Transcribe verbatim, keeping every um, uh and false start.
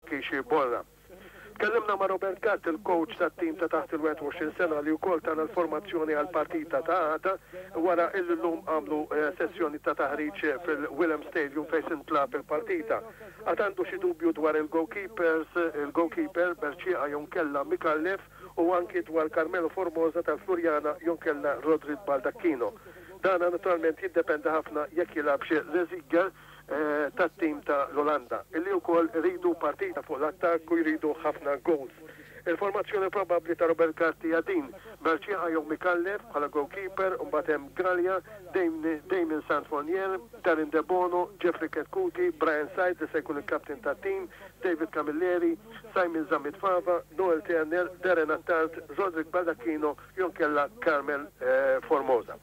Kishi Borra. Tkellimna ma' Robert Gatt, il-coach tat-tim ta' taħt il-wieħed u għoxrin sena, li wkoll tana l-formazzjoni għal partita ta' għada wara illum għamlu eh, sessjoni ta' taħriġ fil-Willem Stadium fejn tintlagħab il-partita. Għad għandu xi dubju dwar il-goalkeepers, il-goalkeeper Berċieqa jew inkella Mikallef, u anki dwar Carmelo Formosa tal-Floriana jew inkella Rodrik Baldacchino. Dana naturalment jiddependi ħafna jekk jilgħabx Reziger eh, tat-tim ta' l-Olanda, illi wkoll iridu partita fuq l-attakk u jridu ħafna goals. Il-formazzjoni probabbli ta' Robert Gatti hija din: Berċieqa jew Mikallef bħala goalkeeper, mbagħad hemm Gallia, Damien Santfonier, Darren Debono, Jeffrey Ketkuti, Brian Said li se jkun il-kaptin tat-tim, David Camilleri, Simon Zammit Fava, Noel Turner, Darren Attard, Roderick Baldacchino jew inkella Carmel eh, Formosa.